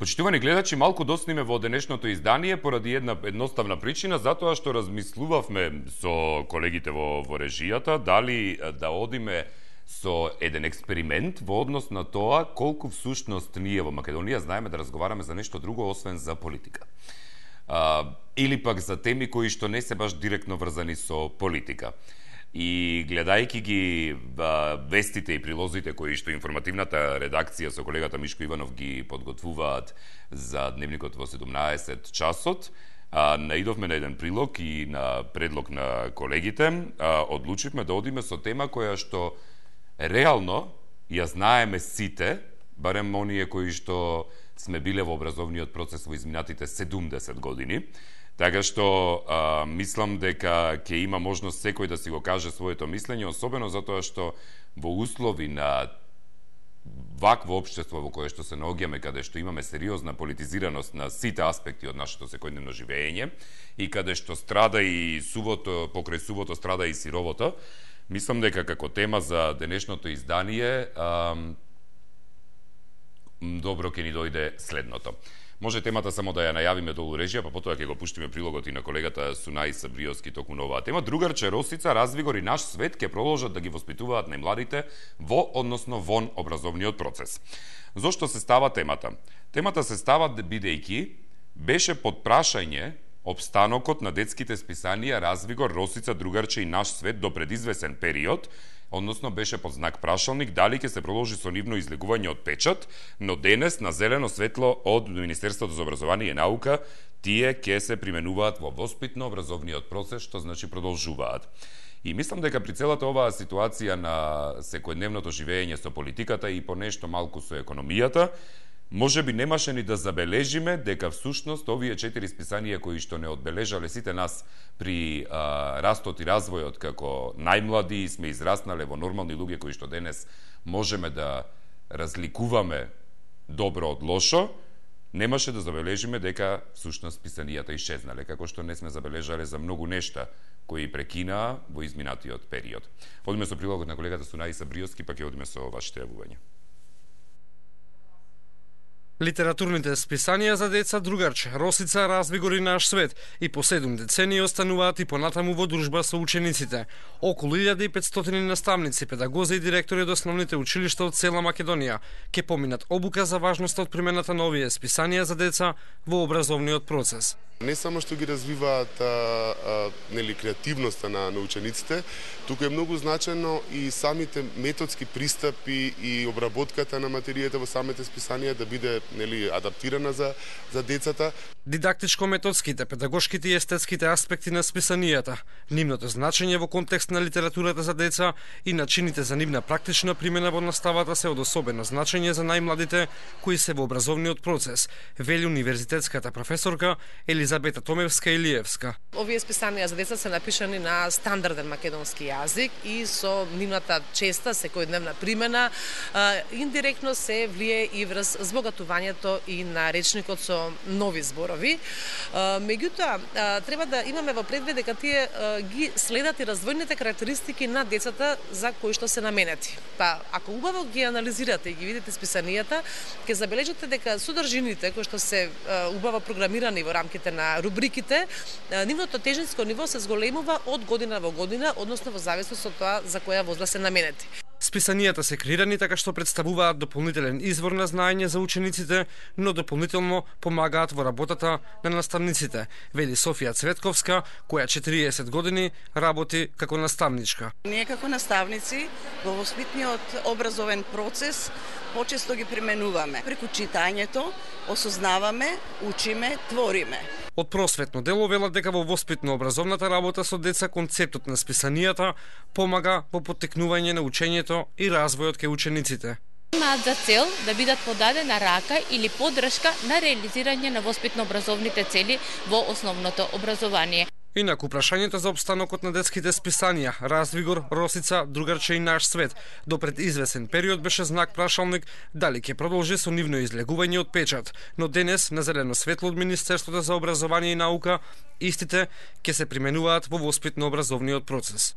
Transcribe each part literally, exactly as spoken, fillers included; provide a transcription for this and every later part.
Почитувани гледачи, малку досниме во денешното издание поради една едноставна причина, затоа што размислувавме со колегите во, во режијата дали да одиме со еден експеримент во однос на тоа колку всушност ние во Македонија знаеме да разговараме за нешто друго освен за политика. А, или пак за теми кои што не се баш директно врзани со политика. И гледајќи ги а, вестите и прилозите кои што информативната редакција со колегата Мишко Иванов ги подготвуваат за дневникот во седумнаесет часот, а, наидовме на еден прилог и на предлог на колегите, а, одлучивме да одиме со тема која што реално ја знаеме сите, барем оние кои што сме биле во образовниот процес во изминатите седумдесет години, така што а, мислам дека ќе има можност секој да си го каже своето мислење, особено затоа што во услови на вакво општество во кое што се наоѓаме, каде што имаме сериозна политизираност на сите аспекти од нашето секојдневно живење и каде што страда и сувото, покрај сувото страда и сировото, мислам дека како тема за денешното издание а, добро ќе ни дојде следното. Може темата само да ја најавиме долу режија, па потоа ќе го пуштиме прилогот и на колегата Сунаи Сабриовски токму на оваа тема. Другарче Росица, Развигор и Наш свет ќе продолжат да ги воспитуваат најмладите во, односно вон образовниот процес. Зошто се става темата? Темата се става бидејќи беше под прашање опстанокот на детските списанија Развигор, Росица, Другарче и Наш свет до предизвесен период, односно беше под знак прашалник дали ќе се продолжи со нивно излегување од печат, но денес на зелено светло од Министерството за образование и наука тие ќе се применуваат во воспитно-образовниот процес, што значи продолжуваат. И мислам дека при целата оваа ситуација на секојдневното живење со политиката и по нешто малку со економијата, може би немаше ни да забележиме дека всушност овие четири списанија кои што не одбележале сите нас при а, растот и развојот како најмлади и сме израснале во нормални луѓе кои што денес можеме да разликуваме добро од лошо, немаше да забележиме дека всушност списанијата исчезнале, како што не сме забележале за многу нешта кои прекинаа во изминатиот период. Одиме со прилогот на колегата Сунаи Сабриовски, па ќе одиме со вашите јавувања. Литературните списанија за деца Другарче, Росица, Развигор и Наш свет и по седум децении остануваат и понатаму во дружба со учениците. Околу илјада и петстотини наставници, педагози и директори од основните училишта од цела Македонија ќе поминат обука за важноста од примената на овие списанија за деца во образовниот процес. Не само што ги развиваат а, а, нели креативноста на, на учениците, туку е многу значено и самите методски пристапи и обработката на материјата во самите списанија да биде нели адаптирана за за децата. Дидактичко-методските, педагошките и естетските аспекти на списанијата, нивното значење во контекст на литературата за деца и начините за нивна практична примена во наставата се од особено значење за најмладите кои се во образовниот процес, вели универзитетската професорка Елизабета Томевска-Илиевска. Овие списанија за деца се напишани на стандарден македонски јазик и со нивната честа секојдневна примена индиректно се влие и врз збогатувањето и на речникот со нови зборови. Меѓутоа, треба да имаме во предвид дека тие ги следат и развојните карактеристики на децата за кои што се наменети. Па, ако убаво ги анализирате и ги видите списанијата, ќе забележите дека содржините кои што се убаво програмирани во рамките на рубриките, нивното тежинско ниво се зголемува од година во година, односно во зависност од тоа за која возраст се наменети. Списанијата се креирани така што представуваат дополнителен извор на знаење за учениците, но дополнително помагаат во работата на наставниците, вели Софија Цветковска, која четириесет години работи како наставничка. Ние како наставници во воспитниот образовен процес почесто ги применуваме. Преку читањето осознаваме, учиме, твориме. Од просветно дело велат дека во воспитно-образовната работа со деца концептот на списанијата помага во поттекнување на учењето и развојот кај учениците. Имаат за цел да бидат подадена рака или поддршка на реализирање на воспитно-образовните цели во основното образование. Инаку прашањето за обстанокот на детските списанија Развигор, Росица, Другарче и Наш свет до пред извесен период беше знак прашалник дали ќе продолжи со нивно излегување од печат, но денес на зелено светло од Министерството за образование и наука истите ќе се применуваат во воспитно-образовниот процес.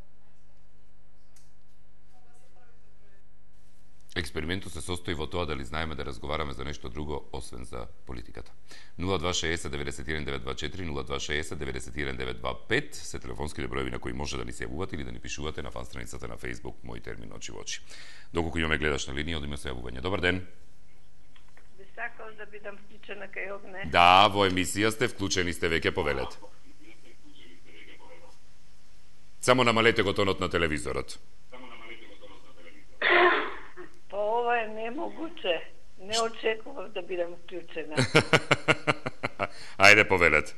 Експериментот се состои во тоа дали знаеме да разговараме за нешто друго освен за политиката. нула два шеесет деветдесет и еден девет два четири, нула два шеесет деветдесет и еден девет два пет се телефонските броеви на кои може да ни се јавувате или да ни пишувате на фан страницата на Facebook Мој термин очи во очи. Доколку имаме гледаш на линија, одиме со јавување. Добар ден. Би сакал да бидам вклучена кај огне. Да, во емисија сте, вклучени сте веќе, повелете. Само намалете го тонот на телевизорот. Па ова е немогуче. Не очекував да бидам вклучена. Ајде, повелете.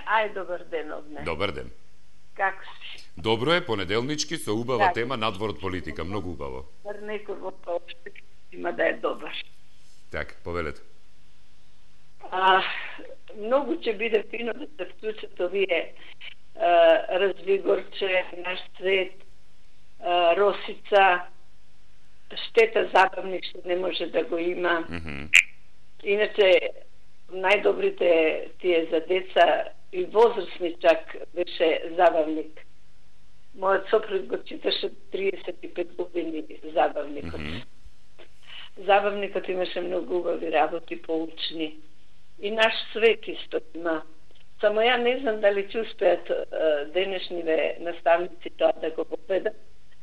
Ај, добар ден, огне. Добар ден. Како си? Добро е, понеделнички со убава Да. тема надвор од политика, многу убаво. Бар некој во поопште има да е добар. Така, повелете. А, многу ќе биде фино да се вклучат овие а, Развигорче, Наш свет, а, Росица, штета забавник што не може да го има. Mm -hmm. Иначе, најдобрите тие за деца и возрастни чак беше забавник. Мојот сопруг го читаше триесет и пет години забавникот. Mm -hmm. Забавникот имаше многу убави работи, поучни. И Наш свет исто има. Само ја не знам дали ќе успеат денешниве наставници тоа да го поведат,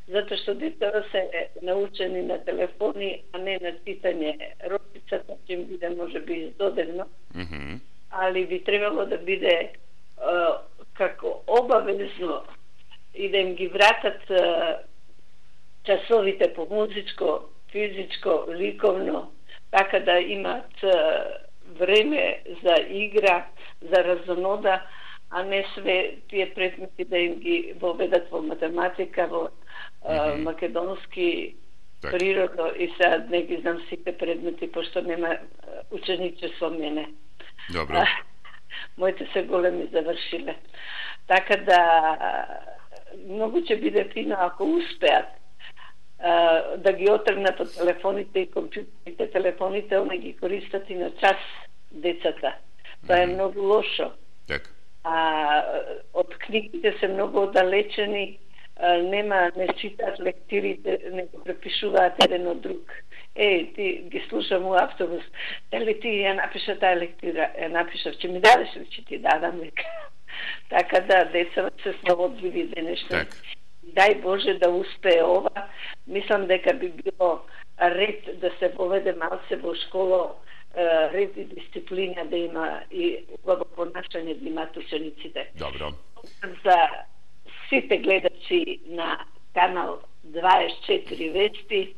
затоа што децата се научени на телефони, а не на читање. Росицата ќе им биде може би издодено, Mm -hmm. али би требало да биде а, како обавезно и да им ги вратат а, часовите по музичко, физичко, ликовно, така да имат а, време за игра, за разонода, а не све тие предмети да им ги воведат во математика, во а, Mm -hmm. македонски, Так. природо и сега не ги знам сите предмети, пошто нема а, учениче со мене. Добро. А, моите се големи завршиле. Така да многу ќе биде фино ако успеат а, да ги отргнат од телефоните и компјутерите. Телефоните они ги користат и на час децата. Тоа е Мгм. многу лошо. Така. А од книгите се многу оддалечени, а, нема, не читаат лектирите, не го препишуваат еден од друг. Е, ти ги слушам у автобус. Дали ти ја напиша таа лектира? Ја напишав, ќе ми дадеш ли, ќе ти дадам века. Така да, децата се слободливи денешни. Така. Дај Боже да успее ова. Мислам дека би било ред да се поведе малце во школа, е, ред и дисциплина да има и убаво понашање да имаат учениците. Добро. За сите гледачи на канал дваесет и четири Вести,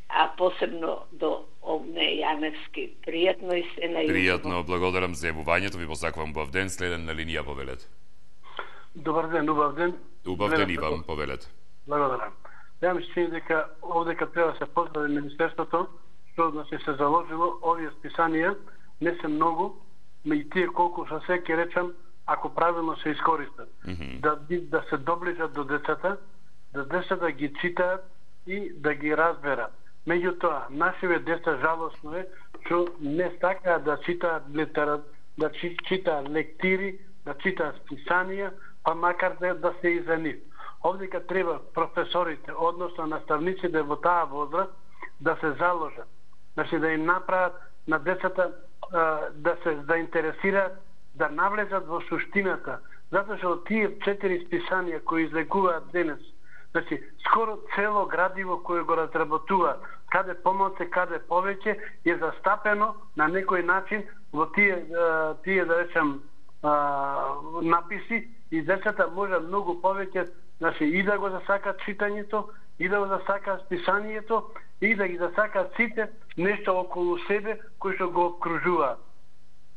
а посебно до Огне Јаневски. Пријатно и се најубаво. Пријатно, благодарам за јавувањето, ви посакувам убав ден, следен на линија, повелете. Добар ден, убав ден. Убав ден Гледам и вам, како- повелете. Благодарам. Ја ми се чини дека овдека треба да се поздрави Министерството, што да се се заложило овие списанија, не се многу, ма и тие колку са се ќе речам, ако правилно се искористат. Мгм. Да, би- да се доближат до децата, да децата ги читаат и да ги разберат. Меѓутоа, нашиве деца жалосно е што не сакаат да читаат литерат, да чи- читаат лектири, да читаат списанија, па макар да, да се и за нив. Овдека треба професорите, односно наставниците во таа возраст, да се заложат. Значи да им направат на децата а, да се заинтересираат, да навлезат во суштината. Затоа што тие четири списанија кои излегуваат денес, значи скоро цело градиво кое го разработуваат, каде помалце, каде повеќе, е застапено на некој начин во тие, а, тие да речем, а, написи и децата може многу повеќе, значи и да го засакат читањето, и да го засакат списанието, и да ги засакат сите нешто околу себе кои што го обкружуваат.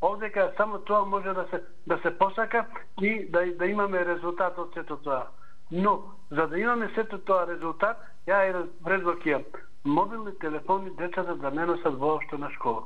Овдека само тоа може да се да се посака и да да имаме резултат од сето тоа. Но за да имаме сето тоа резултат, ја е предлог ја мобилни телефони децата да не носат воопшто на школа.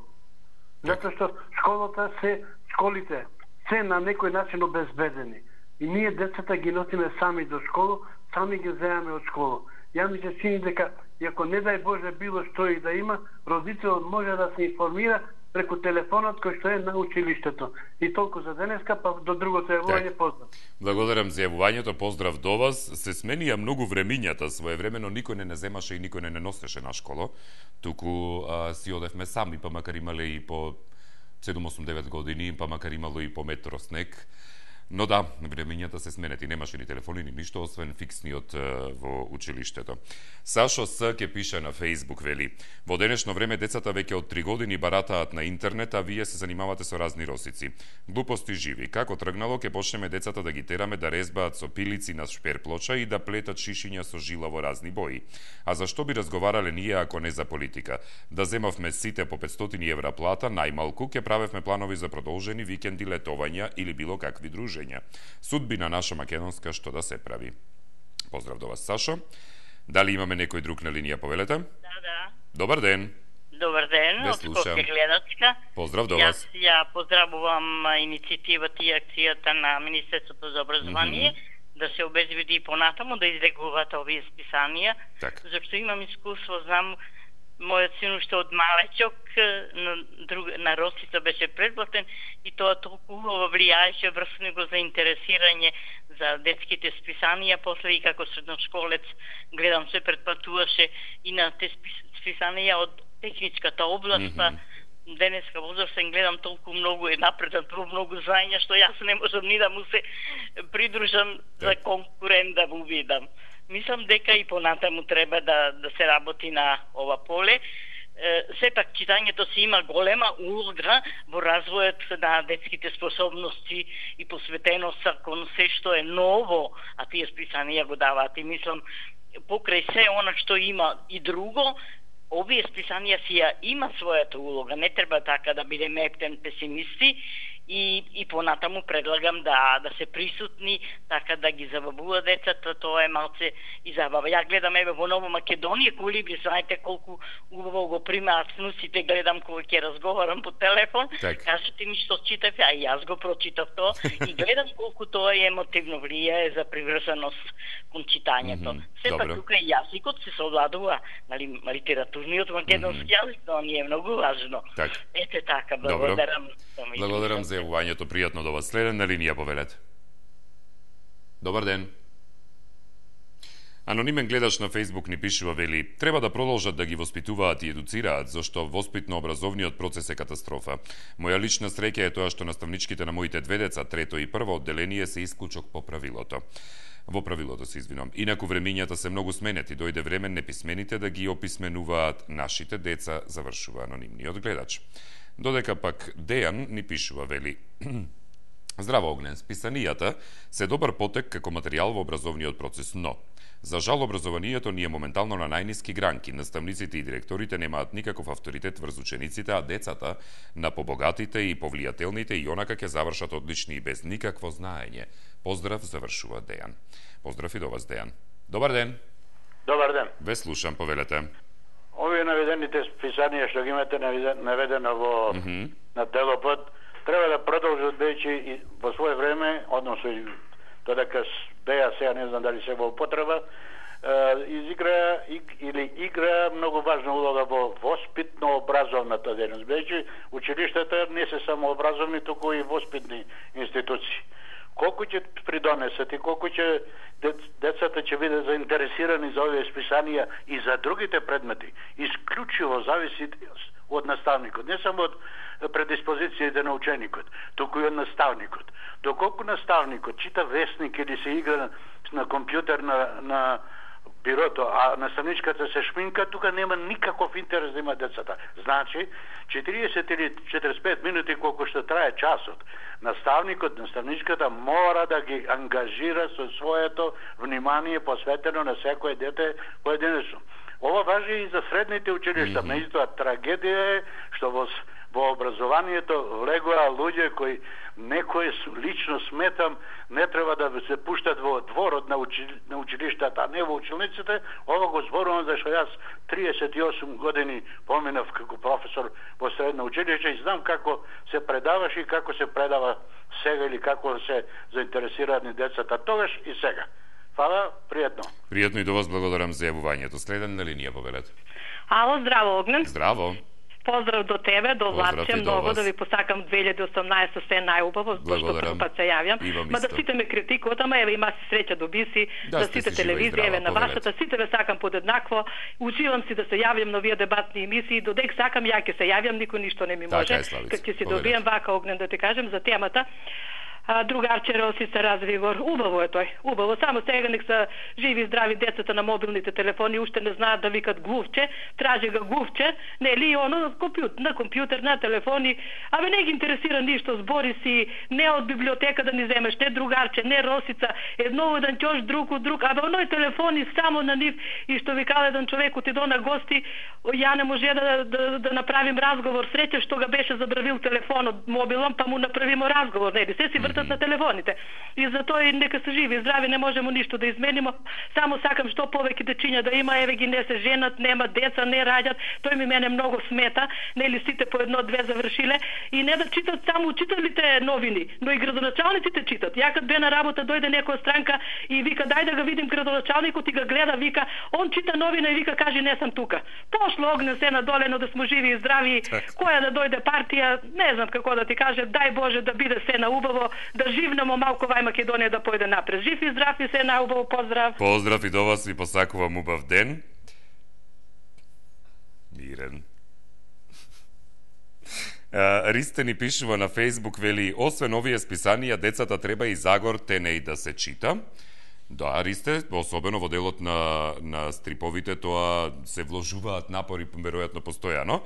Затоа што школата се школите се на некој начин обезбедени. И ние децата ги носиме сами до школа, сами ги земаме од школа. Ја ми се чини дека, и ако не дај Боже било што и да има, родителот може да се информира преку телефонот кој што е на училиштето. И толку за денеска, па до другото јавување так. Поздрав. Благодарам за јавувањето, поздрав до вас. Се сменија многу времињата, своевремено никој не не земаше и никој не не носеше на школа, туку а, си одевме сами, па макар имале и по седум осум девет години, па макар имало и по метро снег. Но да, времењата се сменети, немаше ни телефони, ни ништо, освен фиксниот во училиштето. Сашо С. ке пише на Фейсбук, вели: во денешно време децата веќе од три години баратаат на интернет, а вие се занимавате со разни росици. Глупости живи. Како тргнало, ќе почнеме децата да ги тераме да резбаат со пилици на шперплоча и да плетат шишиња со жила во разни бои. А зашто би разговарале ние ако не за политика? Да земавме сите по петстотини евра плата, најмалку, ќе правевме планови за продолжени викенди, летовања или било какви дружења. Судбина наша македонска, што да се прави. Поздрав до вас, Сашо. Дали имаме некој друг на линија, повелете? Да, да. Добар ден. Добар ден, од Скопје гледачка. Поздрав до вас. Јас ја поздравувам иницијативата и акцијата на Министерството за образование, mm -hmm. да се обезбеди понатаму да излегуваат овие списанија, так. Зашто имам искуство, знам, мојот син уште од малечок на, друг, на Росица беше предплатен и тоа толку убаво влијаеше врз него за интересирање за детските списанија, после и како средношколец гледам се предплатуваше и на те списанија од техничката област, mm -hmm. денеска возрастен гледам толку многу е напредат во многу знаења што јас не можам ни да му се придружам за конкурент да му видам. Мислам дека и понатаму треба да, да се работи на ова поле. Е, сепак читањето си има голема улога во развојот на детските способности и посветеност кон се што е ново, а тие списанија го даваат. И мислам, покрај се она што има и друго, овие списанија си ја има својата улога. Не треба така да бидеме ептен песимисти. И, и понатаму предлагам да да се присутни, така да ги забавува децата, тоа е малце и забава. Ја гледам еве во Ново Македонија, Колибри, знаете колку убаво го примаат снусите, гледам кога ќе разговарам по телефон, так. Кажете ми што читав, а јас го прочитав тоа и гледам колку тоа е емотивно влијае за приврзаност кон читањето. Mm -hmm. Сепак тука и јазикот се совладува, нали, литературниот македонски mm -hmm. јазик, тоа ни е многу важно. Так. Ете така, благодарам. Благодарам за јавувањето, пријатно до вас. Следен на линија, повелете. Добар ден. Анонимен гледач на Фейсбук ни пишува, вели: треба да продолжат да ги воспитуваат и едуцираат, зашто воспитно-образовниот процес е катастрофа. Моја лична среќа е тоа што наставничките на моите две деца, трето и прво одделение, се исклучок по правилото. Во правилото се извинувам. Инаку времињата се многу сменети, дојде време неписмените да ги описменуваат нашите деца, завршува анонимниот гледач. Додека пак Дејан ни пишува, вели: здраво, Огнен, списанијата се добар потек како материјал во образовниот процес, но за жал образованието ни е моментално на најниски гранки. Наставниците и директорите немаат никаков авторитет врз учениците, а децата на побогатите и повлијателните и онака ќе завршат одлични и без никакво знаење. Поздрав, завршува Дејан. Поздрав и до вас, Дејан. Добар ден. Добар ден. Ве слушам, повелете. Овие наведените списанија што ги имате наведено во mm -hmm. на Телопот, треба да продолжат веќе и во своје време, односно и додека беа сега, не знам дали се во употреба, изигра или игра многу важна улога во воспитно-образовната дејност. Веќе училиштата не се само образовни, туку и воспитни институции. Колку ќе придонесат и колку ќе децата ќе бидат заинтересирани за овие списанија и за другите предмети, исклучиво зависи од наставникот, не само од предиспозициите на ученикот, туку и од наставникот. Доколку наставникот чита весник или се игра на компјутер на, на бирото, а наставничката се шминка, тука нема никаков интерес да има децата. Значи, четириесет или четириесет и пет минути колку што трае часот, наставникот, наставничката мора да ги ангажира со своето внимание посветено на секое дете поединечно. Ова важи и за средните училишта. Mm -hmm. Меѓутоа, трагедија е што во во образованието влегоа луѓе кои некој лично сметам не треба да се пуштат во дворот на, учи, на училиштата, а не во училниците. Ова го зборувам зашто јас триесет и осум години поминав како професор во средно училиште и знам како се предаваше и како се предава сега или како се заинтересираат децата тогаш и сега. Фала, пријатно. Пријатно и до вас, благодарам за јавувањето. Следен на линија, повелете. Ало, здраво, Огнен. Здраво. Поздрав до тебе, до Владче, многу вас. да ви посакам две илјади и осумнаесета се најубаво, зашто прв пат се јавјам. Ма да сите ме критикуваат, ама еве има си среќа до биси, Да, да сте сите си жива и телевизија, здрава, еве на повелете. вашата, сите ве сакам подеднакво. Учивам си да се јавјам на овие дебатни емисии, додек сакам ја ќе се јавјам, никој ништо не ми Така може. е, Славица, Кога ќе си повелете. добијам вака огнен да ти кажем за темата. А, другарче Росица Развигор, убаво е тој, убаво. Само сега нек се живи и здрави децата на мобилните телефони, уште не знаат да викат глувче, тражи го глувче, нели и оно на компјутер, на компјутер, на телефони, абе не ги интересира ништо, збори си, не од библиотека да ни земеш, не другарче, не Росица, едно еден ќош друг од друг, абе оној телефони само на нив и што ви каде еден човек отидо на гости, ја не може да, да, да направим разговор, среќа што ga беше забравил телефонот мобилом, па му направимо разговор, нели, се си вртат на телефоните. И затоа и нека се живи и здрави, не можемо ништо да изменимо. Само сакам што повеќе дечиња да има, еве ги не се женат, нема деца, не раѓат. Тој ми мене многу смета, нели сите по едно-две завршиле и не да читат само учителите новини, но и градоначалниците читат. Ја кад бе на работа дојде некоја странка и вика дај да го видим градоначалникот и го гледа, вика он чита новина и вика кажи не сум тука. Пошло огне се надолено да сме живи и здрави. Која да дојде партија, не знам како да ти кажа, дај Боже да биде се наубаво, да живнемо малку вај Македонија да појде напред. Жив и здрав и се наубаво, поздрав. Поздрав и до вас, ви посакувам убав ден. Мирен. Ристе ни пишува на Фейсбук, вели, освен овие списанија, децата треба и Загор Тенеј да се чита. Да, Ристе, особено во делот на, на стриповите, тоа се вложуваат напори, веројатно постојано.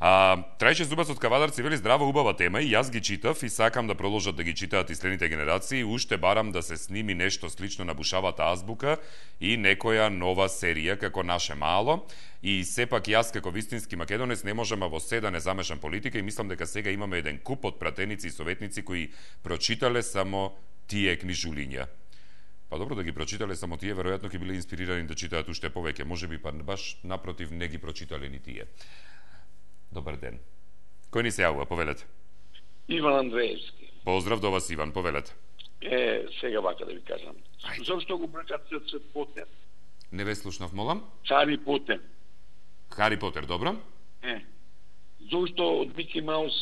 А, Трајче Зубац од Кавадарци вели, здрава, убава тема и јас ги читав и сакам да продолжат да ги читаат и следните генерации. Уште барам да се сними нешто слично на Бушавата азбука и некоја нова серија како Наше мало. И сепак јас како вистински македонец не можам во се да не замешам политика и мислам дека сега имаме еден куп од пратеници и советници кои прочитале само тие книжулиња. Па добро да ги прочитале само тие, веројатно ќе биле инспирирани да читаат уште повеќе. Можеби па баш напротив не ги прочитале ни тие. Добар ден. Кој ни се јавува, повелете? Иван Андреевски. Поздрав до вас, Иван, повелете. Е, сега вака да ви кажам. Зошто го бркат се Цвет Потен? Не ве слушнав, молам? Хари Потен. Хари Потер, добро? Е. Зошто од Мики Маус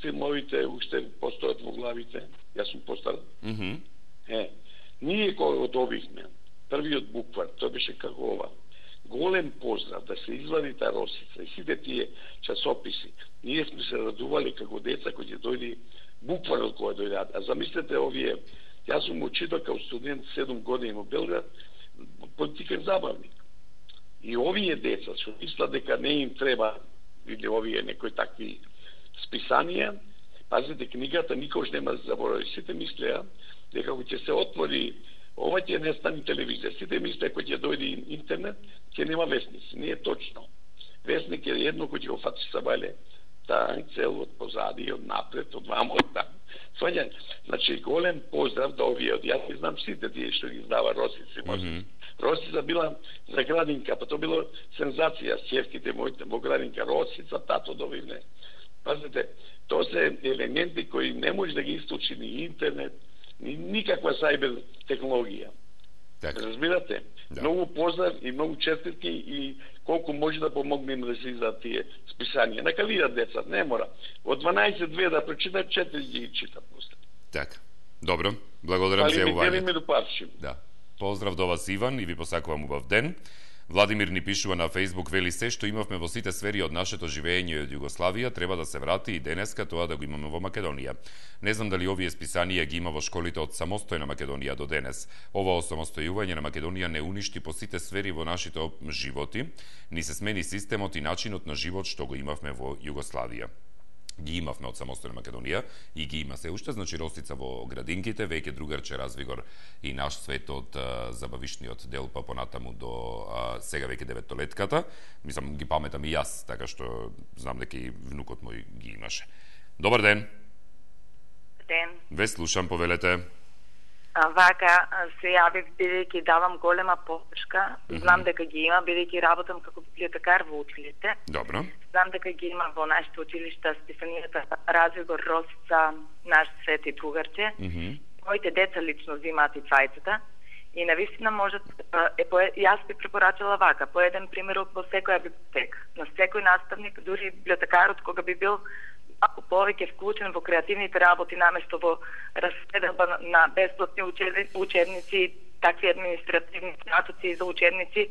филмовите уште постојат во главите? Јас сум постар. Mm -hmm. Е. Ние кој одобивме, првиот буквар, тој беше како ова. Голем поздрав да се извади та Росица и сите тие часописи. Ние сме се радували како деца кои ќе дојде букварот кој дојде. А замислете овие, јас сум учител као студент седум години во Белград, политикен забавник. И овие деца што мислат дека не им треба, или овие некои такви списанија, пазите книгата никош нема да заборави. Сите мислеа дека кога ќе се отвори ова ќе не стане телевизија. Сите мислеа кога ќе дојде интернет, ќе нема вестници. Не е точно. Вестник е едно кој ќе го фати сабале, та цел од позади, од напред, од вамо, од там. Сваѓање, значи голем поздрав до овие, од јас знам сите тие што ги издава Росици. Mm -hmm. Росица била за градинка, па тоа било сензација с ќерките моите во градинка. Росица, тато довивне. Пазите, тоа се елементи кои не може да ги источи ни интернет, ни никаква сајбер технологија. Так. Разбирате? Да. Многу поздрав и многу честитки и колку може да помогнем да се издаат тие списанија. Нека видат деца, не мора. Од дванаесет две да прочитат, четири ги читат после. Така. Добро. Благодарам за јавување. Да. Поздрав до вас, Иван, и ви посакувам убав ден. Владимир ни пишува на Фейсбук, вели, се што имавме во сите сфери од нашето живење од Југославија треба да се врати и денеска тоа да го имаме во Македонија. Не знам дали овие списанија ги има во школите од самостојна Македонија до денес. Ова осамостојување на Македонија не уништи по сите сфери во нашите животи, ни се смени системот и начинот на живот што го имавме во Југославија. Ги имавме од самостојна Македонија и ги има се уште, значи Росица во градинките, веќе другарче Развигор и Наш свет од а, забавишниот дел па понатаму до а, сега веќе деветолетката. Мислам, ги паметам и јас, така што знам дека и внукот мој ги имаше. Добар ден. Ден. Ве слушам, повелете. А, вака се јавив бидејќи давам голема поддршка. Знам mm -hmm. дека ги има бидејќи работам како библиотекар во училиште. Добро. Знам дека ги има во нашите училишта списанијата Развигор, Росица, Наш свет и другарче. Mm -hmm. Моите деца лично взимаат и двајцата. И навистина можат, е, по, јас би препорачала вака, по еден пример во секоја библиотека, на секој наставник, дури библиотекарот кога би бил малку повеќе вклучен во креативните работи наместо во распределба на бесплатни учебници, такви административни статуци за учебници,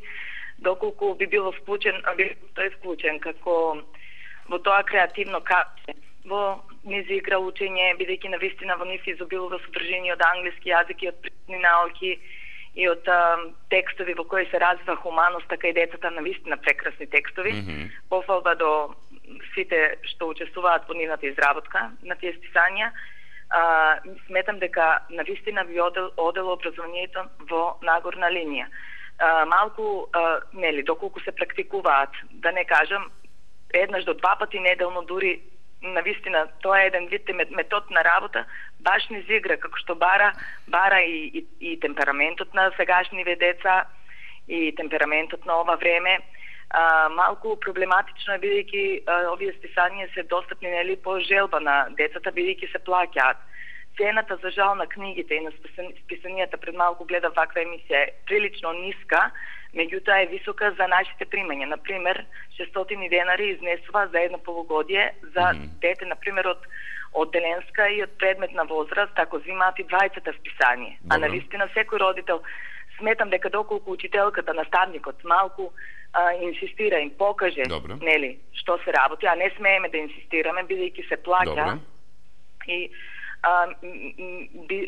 доколку би бил вклучен, би тој вклучен како во тоа креативно капче, во низ игра учење, бидејќи навистина во нив изобилува содржини од англиски јазик и од природни науки и од а, текстови во кои се развива хуманост, така и децата навистина прекрасни текстови. Mm-hmm. Пофалба до сите што учествуваат во нивната изработка на тие списања. А, сметам дека навистина би одел, одело образованието во нагорна линија. А, малку, а, нели, доколку се практикуваат, да не кажам, еднаш до два пати неделно, дури навистина тоа е еден вид метод на работа, баш низ игра, како што бара, бара и, и, и темпераментот на сегашниве деца, и темпераментот на ова време. А, малку проблематично е, бидејќи овие списања се достапни, нели, по желба на децата, бидејќи се плаќаат. Цената за жал на книгите и на списанијата, пред малку гледав ваква емисија, е прилично ниска, меѓутоа е висока за нашите примања. Например, шестстотини денари изнесува за едно полугодие за mm-hmm. дете, например, од од деленска и од предметна возраст, ако зимаат и двајцата списање. Добре. А навистина секој родител, сметам дека доколку учителката, наставникот малку а, инсистира, им покаже, Добре. Нели, што се работи, а не смееме да инсистираме, бидејќи се плаќа. И а, би,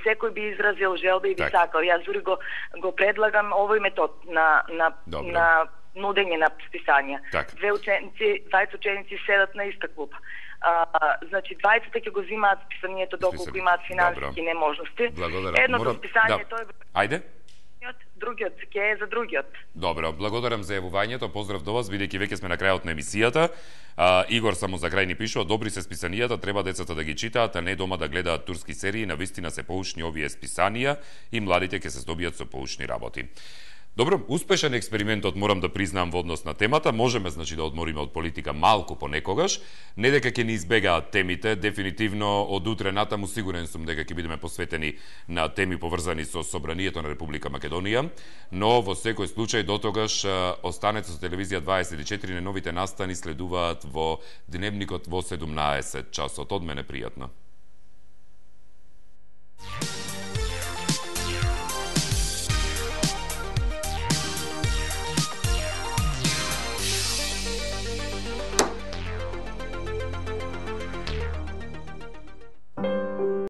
секој би изразил желба и би так. сакал. Јас дури го, го предлагам овој метод на, на, на нудење на списања. Так. Две ученици, двајцет ученици седат на иста клупа. А, значи, двајцата ќе го зимаат списанието доколку имаат финансиски неможности. Благодарам. Едното Морам... списање да. тој Ајде. Другиот ќе е за другиот. Добро, благодарам за јавувањето, поздрав до вас, бидејќи веќе сме на крајот на емисијата. А, Игор само за крај ни пишува: добри се списанијата, треба децата да ги читаат, а не дома да гледаат турски серии, навистина се поучни овие списанија и младите ќе се здобијат со поучни работи. Добро, успешен експериментот, морам да признам, во однос на темата. Можеме, значи, да одмориме од политика малку понекогаш. Не дека ќе ни избегаат темите, дефинитивно од утре натаму сигурен сум дека ќе бидеме посветени на теми поврзани со собранието на Република Македонија, но во секој случај дотогаш останете со телевизија дваесет и четири, новите настани следуваат во Дневникот во седумнаесет часот. Од мене пријатно.